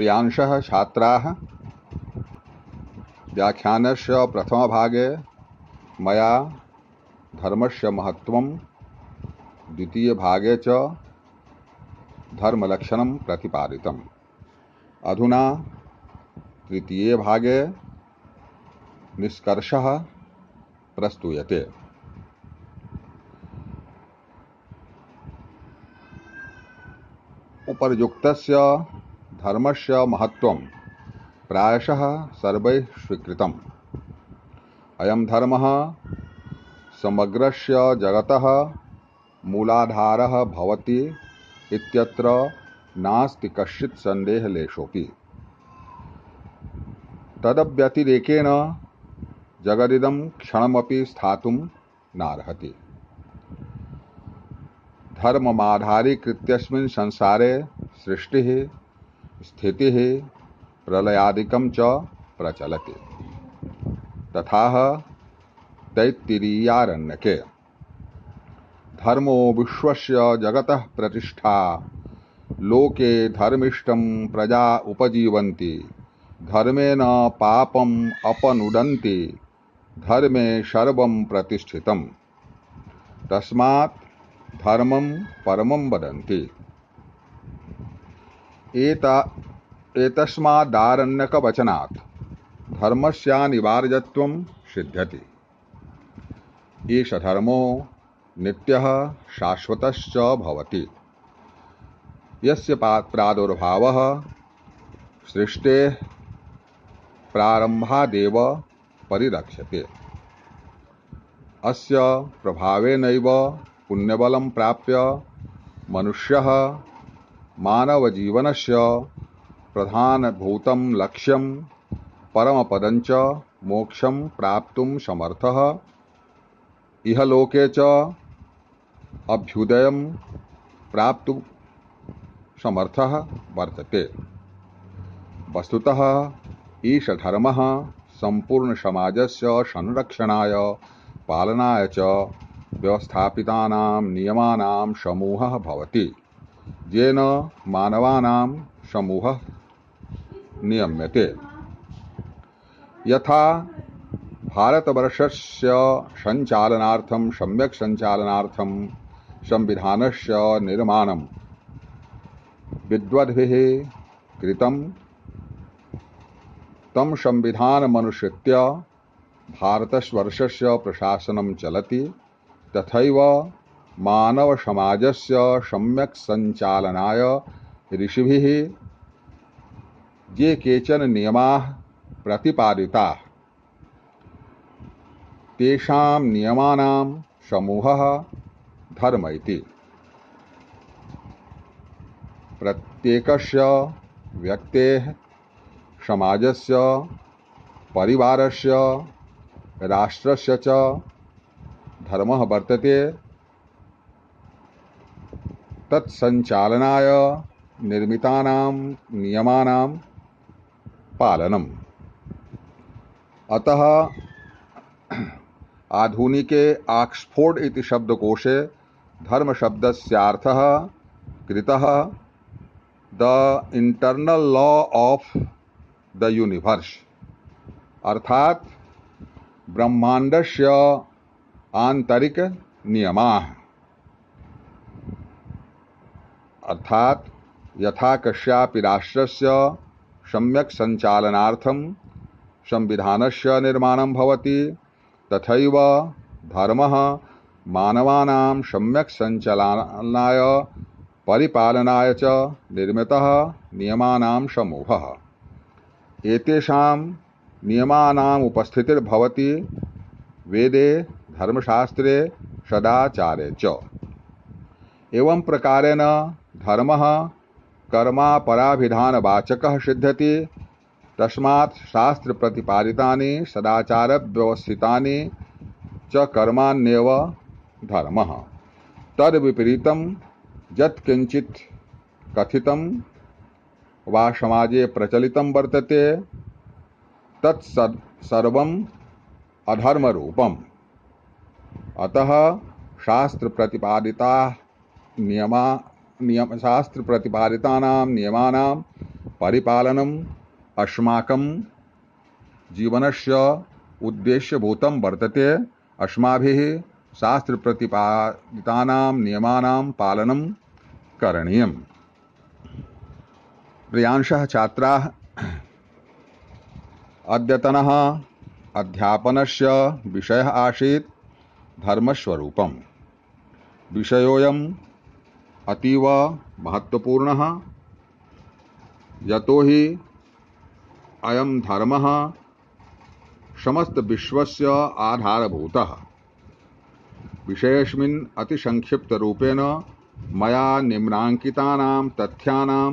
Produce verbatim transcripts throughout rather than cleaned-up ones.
प्रियांशः छात्राः, व्याख्यानस्य प्रथमभागे मया धर्मस्य महत्त्वं, द्वितीयभागे च धर्मलक्षणं प्रतिपादितम्। अधुना तृतीये भागे निष्कर्षः प्रस्तूयते। उपर्युक्तस्य धर्मस्य महत्त्वं प्रायशः सर्वैः स्वीकृतम्। अयं धर्मः समग्रस्य जगतः मूलाधारः भवति इत्यत्र नास्ति कश्चित् सन्देहलेशोऽपि। तदव्यतिरेकेण जगदिदं क्षणमपि स्थातुं नार्हति। धर्ममाधारीकृत्यस्मिन् संसारे सृष्टिः, स्थितिः, प्रलयादिकं च प्रचलति। तथाह तैत्तिरीयारण्यके धर्मो विश्वस्य जगतः प्रतिष्ठा, लोके धर्मिष्ठं प्रजा उपजीवन्ति, धर्मेण पापम् अपनुदन्ति, धर्मे सर्वं प्रतिष्ठितम्, तस्मात् धर्मं परमं वदन्ति। एता एतस्मादारण्यकवचनात् धर्मस्यानिवार्यत्वं सिद्ध्यति। एष धर्मो नित्यः शाश्वतश्च भवति, यस्य प्रादुर्भावः सृष्टेः प्रारम्भादेव परिरक्ष्यते। अस्य प्रभावेनैव पुण्यबलं प्राप्य मनुष्यः मानवजीवनस्य प्रधानभूतं लक्ष्यं परमपदं च मोक्षं प्राप्तुं समर्थः, इहलोके च अभ्युदयं प्राप्तुं समर्थः वर्तते। वस्तुतः ईश धर्मः सम्पूर्णसमाजस्य संरक्षणाय पालनाय च व्यवस्थापितानां नियमानां समूहः भवति, येन मानवानां समूहः नियम्यते। यथा भारतवर्षस्य सञ्चालनार्थं सम्यक् सञ्चालनार्थं संविधानस्य निर्माणं विद्वद्भिः कृतं, तं संविधानमनुसृत्य भारतवर्षस्य प्रशासनं चलति। तथैव मानवसमाजस्य सम्यक् सञ्चालनाय ऋषिभिः ये केचन नियमाः प्रतिपादिताः, तेषां नियमानां समूहः धर्म इति। प्रत्येकस्य व्यक्तेः, समाजस्य, परिवारस्य, राष्ट्रस्य च धर्मः वर्तते। तत्सञ्चालनाय निर्मितानां नियमानां पालनम्। अतः आधुनिके ऑक्सफोर्ड इति शब्दकोशे धर्मशब्दस्यार्थः कृतः the internal law of the universe, अर्थात ब्रह्मांडस्य आंतरिक नियमाः। अर्थात यथा कस्यापि राष्ट्रस्य सम्यक् सञ्चालनार्थं संविधानस्य निर्माणं भवति, तथैव धर्मः मानवानां सम्यक् सञ्चालनाय परिपालनाय च निर्मितः नियमानां समूहः। एतेषां नियमानाम् उपस्थितिर्भवति वेदे, धर्मशास्त्रे, सदाचारे च। एवं प्रकारेण धर्मः कर्मापराभिधानवाचकः सिद्ध्यति। तस्मात् शास्त्र प्रतिपादितानि सदाचार व्यवस्थितानि च कर्माण्येव धर्मः। तद् विपरीतं यत् किंचित् कथितं वा समाजे प्रचलितं वर्तते तत् सर्वम् अधर्मरूपम्। अतः शास्त्र प्रतिपादिता नियमा नियम शास्त्र प्रतिपादितानां नियमानां परिपालनम् अस्माकं जीवनस्य उद्देश्यभूतं वर्तते। अस्माभिः शास्त्रप्रतिपादितानां नियमानां पालनं करणीयम्। प्रियांशः छात्राः, अद्यतनः अध्यापनस्य विषयः आसीत् धर्मस्वरूपम्। विषयोऽयम् अतीव महत्त्वपूर्णः, यतो हि अयं धर्मः समस्त विश्वस्य आधारभूतः। विषयेऽस्मिन् अतिसंक्षिप्तरूपेण मया निम्नाङ्कितानां तथ्यानां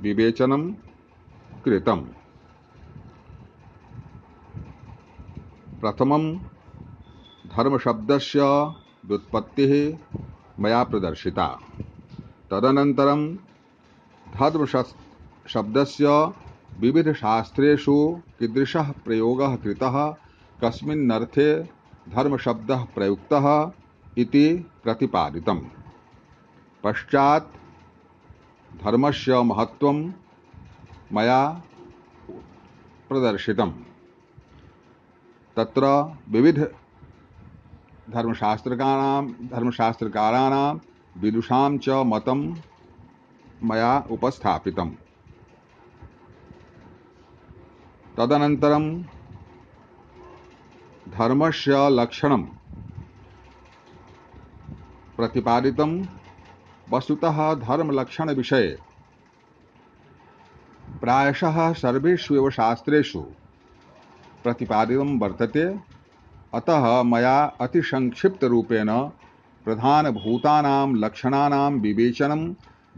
विवेचनं कृतम्। प्रथमं धर्मशब्दस्य व्युत्पत्तिः मया प्रदर्शिता। तदनन्तरं धर्मशब्दस्य विविधशास्त्रेषु कीदृशः प्रयोगः कृतः, कस्मिन्नर्थे धर्मशब्दः प्रयुक्तः इति प्रतिपादितम्। पश्चात् धर्मस्य महत्त्वं मया प्रदर्शितम्। तत्र विविध धर्मशास्त्रकाराणां धर्मशास्त्रकाराणां विदुषां च मतं मया उपस्थापितम्। तदनन्तरं धर्मस्य लक्षणं प्रतिपादितं। वस्तुतः धर्मलक्षणविषये प्रायशः सर्वेषु एव शास्त्रेषु प्रतिपादितं वर्तते। अतः मया अतिसंक्षिप्तरूपेण प्रधानभूतानां लक्षणानां विवेचनं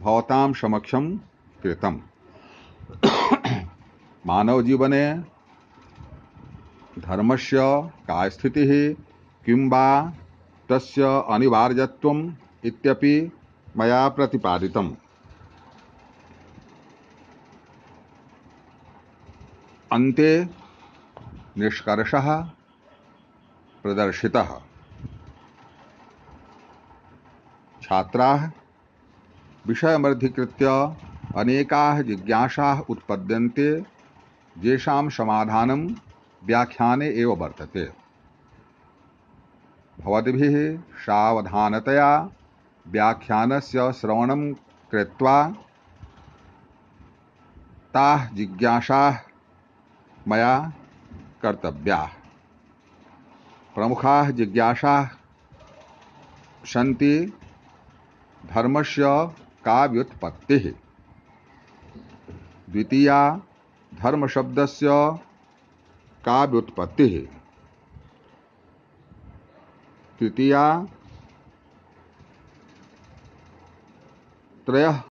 भवतां समक्षं कृतम्। मानवजीवने धर्मस्य का स्थितिः, किं वा तस्य अनिवार्यत्वम् इत्यपि मया प्रतिपादितम्। अन्ते निष्कर्षः प्रदर्शितः। छात्राः, विषयमधिकृत्य अनेकाः जिज्ञासाः उत्पद्यन्ते, येषां समाधानं व्याख्याने एव वर्तते। भवद्भिः सावधानतया व्याख्यानस्य श्रवणं कृत्वा ताः जिज्ञासाः मया कर्तव्याः। प्रमुखाः जिज्ञासाः सन्ति: धर्मस्य का व्युत्पत्तिः? द्वितीया, धर्मशब्दस्य का व्युत्पत्तिः? तृतीया, त्रयः